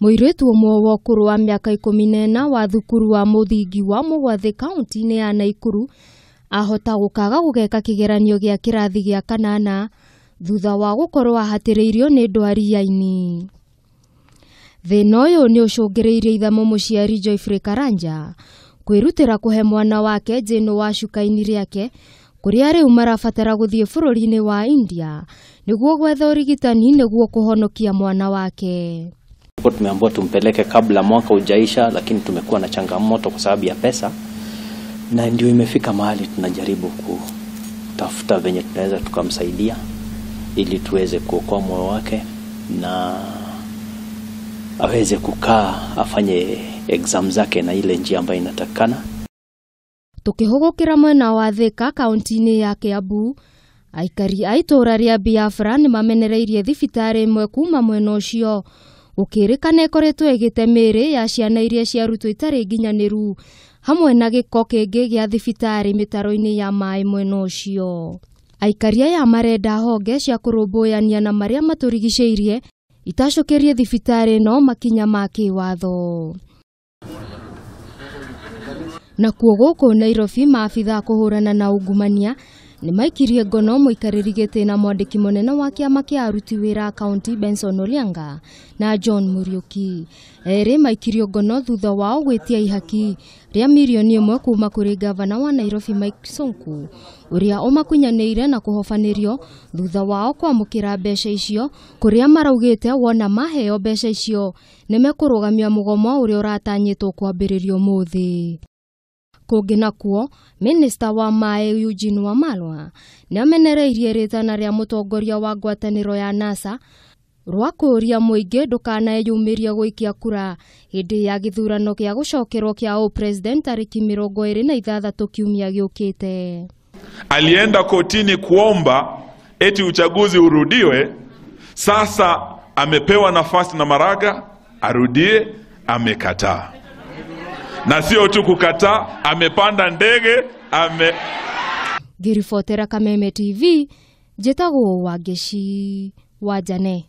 Mũirĩtu ũmwe wa ũkũrũ wa mĩaka 14 wa thukuru wa mũthingi wa Mũgwathĩ kaunti-inĩ ya Naikuru ahota gũkaga gũgeka kĩgeranio gĩa kĩrathi gĩa kanana thutha wa gũkorwo ahatĩrĩirio nĩ ndwari ya ini. Thĩna ũyũ nĩ ũcũngĩrĩirie ithe mũmũciari Geoffrey Karanja kwĩrutĩra kũhe mwana wake njĩnũ wa cuka-inĩ rĩake kũrĩa rĩu marabatara gũthiĩ bũrũri-inĩ wa India nĩguo gwetha ũrigitani nĩguo kũhonokia mwana wake. Tumeambiwa tumpeleke kabla mwaka ujaisha, lakini tumekuwa na changamoto kwa sababu ya pesa, na ndio imefika mahali tunajaribu kutafuta venye tunaweza tukamsaidia ili tuweze kuokoa moyo wake na aweze kukaa afanye exam zake na ile njia ambayo inatakikana. Tukihũgũkĩra mwena wa Thika kaunti-inĩ ya Kiambu, aikari a itũũra rĩa Biafra nĩmamenereirie thibitarĩ ĩmwe kuma mwena ũcio gũkĩrĩkana ĩkoretwo ĩgĩte mĩĩrĩ ya ciana iria ciarutwo itarĩ nginyanĩru hamwe na gĩko kĩngĩ gĩa thibitarĩ mĩtaro-inĩ ya maĩ mwena ũcio. Aikari aya marenda honge cia kũrũmbũyania na marĩa matũrigicĩirie itacũkĩrie thibitarĩ ĩno makinya ma kĩwatho. Nakuo gũkũ Nairobi maabitha kũhũrana na ungumania nĩmaikirie ngono mũikarĩri gĩtĩ na mwandĩki mũnene wa kĩama kĩa aruti wĩra kaunti Benson Olianga na John Muriuki. Erĩ maikirio ngono thutha wao gwĩtia ihaki rĩa mirioni 1 kuma kũrĩ gavana wa Nairobi Mike Sonko ũrĩa ũmakunyanĩire na kũhobanĩrio thutha wao kwamũkĩra mbeca icio kũrĩa maraugĩte wona maheo mbeca icio nĩmekũrũgamia mũgomo ũrĩa ũratanyĩtwo kwambĩrĩrio ũmũthĩ. Kũngĩ nakuo, minista wa maĩ Eugene Wamalwa nĩamenereirie rĩtana rĩa mũtongoria wa ngwatanĩro ya NASA rwa kũũria mũingĩ ndũkaneyumĩrie gũikia kura hĩndĩ ya gĩthurano gĩa gũcokerwo kĩa ũpresident tarĩki 26 kiumia gĩũkĩte. Alienda kotini kuomba eti uchaguzi urudiwe. Sasa amepewa nafasi na Maraga arudie, amekataa. Na sio tu kukataa, amepanda ndege, ame Ngĩribotera Kameme TV, njĩtagwo Wangeci wa Jane.